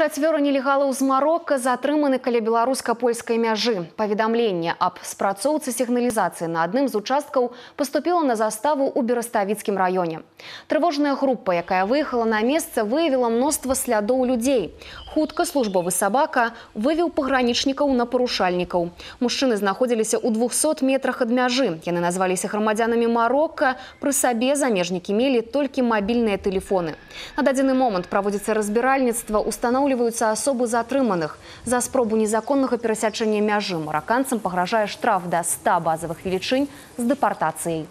4 нелегалаў з Марокко затрыманы каля беларуска-польскай мяжы. Паведамленне аб спрацоўцы сігналізацыі на адным з участкаў паступіла на заставу ў Бераставіцкім раёне. Трывожная група, якая выехала на месца, выявіла мноства слядоў людзей. Хутка службовы сабака вывеў пагранічнікаў на парушальнікаў. Мужчыны знаходзіліся ў 200 метрах ад мяжы. Яны назваліся грамадзянамі Марокко. Пры сабе замежнікі мелі толькі мабільныя тэлефоны. На дадзены момант праводзіцца разбіральніцтва, устанаўліваюцца асобы затрыманых. За спробу незаконнага перасячэння мяжы мараканцам пагражае штраф да 100 базавых велічынь з дэпартацыяй.